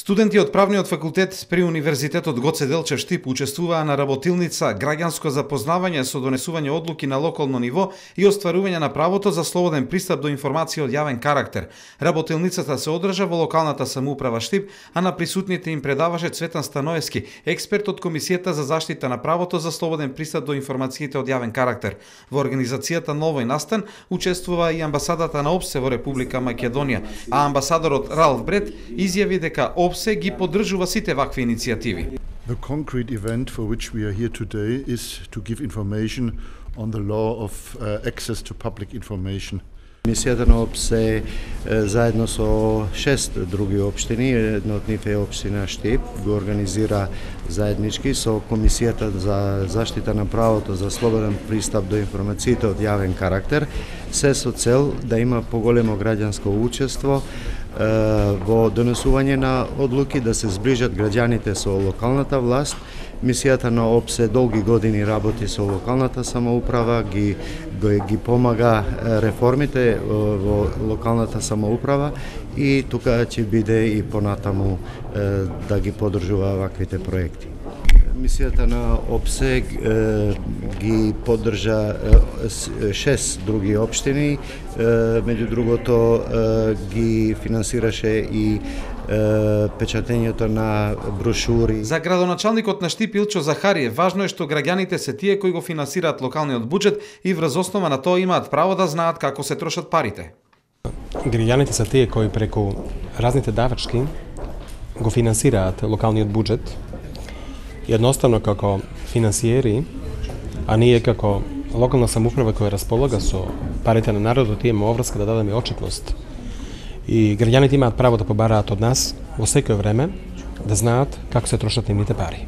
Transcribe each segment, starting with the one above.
Студенти од правниот факултет при Универзитетот Гоце Делчев Штип учествуваа на работилница граѓанско запознавање со донесување одлуки на локално ниво и остварување на правото за слободен пристап до информации од јавен карактер. Работилницата се одржа во локалната самоуправа Штип, а на присутните им предаваше Цветан Станоевски, експерт од Комисијата за заштита на правото за слободен пристап до информациите од јавен карактер. Во организацијата на овој настан учествува и амбасадата на ОПСЕ во Република Македонија, а амбасадорот Ралф Бред изјави дека ОПСЕ ги поддржува сите вакви иницијативи. The concrete event for which we are here today is to give information on the law of access to public information. Мисијата на ОПСЕ заедно со 6 други општини, една од нив е општина Штип, го организира заеднички со Комисијата за заштита на правото за слободен пристап до информациите од јавен карактер, се со цел да има поголемо граѓанско учество во донесување на одлуки, да се зближат граѓаните со локалната власт. Мисијата на ОПСЕ долги години работи со локалната самоуправа, ги помага реформите во локалната самоуправа и тука ќе биде и понатаму да ги поддржува ваквите проекти. Мисијата на ОПСЕ ги поддржа 6 други општини, меѓу другото ги финансираше и печатењето на брошури. За градоначалникот на Штип Илчо Захариев важно е што граѓаните се тие кои го финансираат локалниот буџет и врз основа на тоа имаат право да знаат како се трошат парите. Граѓаните се тие кои преку разните давачки го финансираат локалниот буџет. Едноставно како финансиери, а ние како локална самоуправа која располага со парите на народот имаме обврска да дадеме отчетност. И граѓаните имаат право да побараат од нас во секој време да знаат како се трошат нивните пари.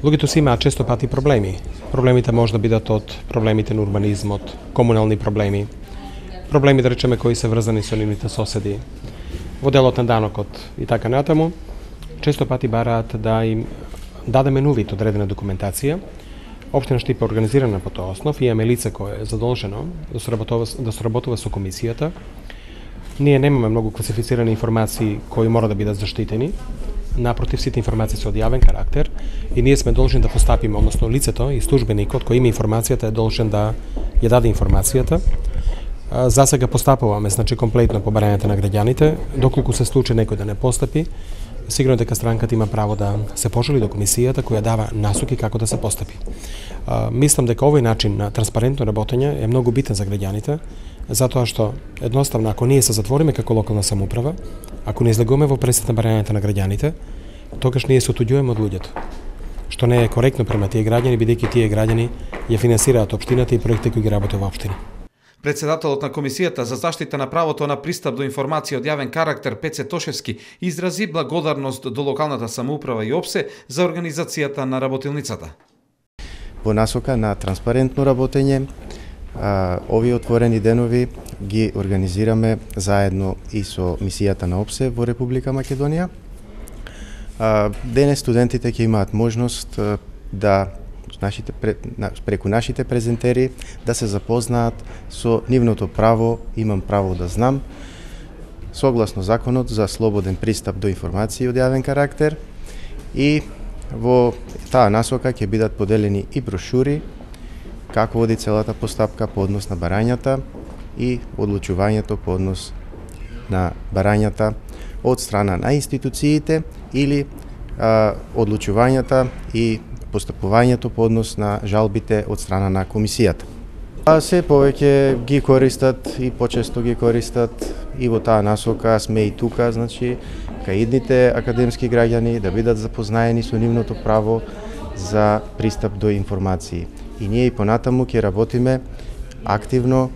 Луѓето си имаат често пати проблеми. Проблемите може да бидат од проблемите на урбанизмот, комунални проблеми, проблеми да речеме кои се врзани со нивните соседи, во делот на данокот и така натаму. Често пати бараат да им дадеме на увид одредена документација. Општина Штип е организирана по тој основ и имаме лице кое е задолжено да соработува со комисијата. Ние немаме многу класифицирани информации кои мора да бидат заштитени. Напротив, сите информации се од јавен карактер и ние сме должни да постапиме, односно лицето и службеникот кој има информацијата е должен да ја даде информацијата. За сега постапуваме, значи комплетно по барањето на граѓаните, доколку се случи некој да не постапи, сигурно дека странката има право да се пожали до комисијата која дава насоки како да се постапи. Мислам дека овој начин на транспарентно работење е многу битен за граѓаните, затоа што едноставно ако ние се затвориме како локална самоуправа, ако не излегуваме во пресет на барањето на граѓаните, тогаш ние се отуѓуваме од луѓето, што не е коректно према тие граѓани, бидејќи тие граѓани ја финансираат општината и проекти кои ги работат во општина. Председателот на Комисијата за заштита на правото на пристап до информации од јавен карактер Пеце Тошевски изрази благодарност до локалната самоуправа и ОПСЕ за организацијата на работилницата. Во насока на транспарентно работење, овие отворени денови ги организираме заедно и со мисијата на ОПСЕ во Република Македонија. Денес студентите ќе имаат можност да преку нашите презентери да се запознаат со нивното право, имам право да знам, согласно законот за слободен пристап до информации од јавен карактер, и во таа насока ќе бидат поделени и брошури како води целата постапка по однос на барањата и одлучувањето по однос на барањата од страна на институциите или одлучувањата и постапувањето по однос на жалбите од страна на комисијата. Се повеќе ги користат и почесто ги користат и во таа насока сме и тука, значи кај идните академски граѓани да бидат запознаени со нивното право за пристап до информации. И ние и понатаму ќе работиме активно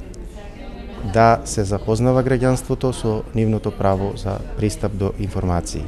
да се запознава граѓанството со нивното право за пристап до информации.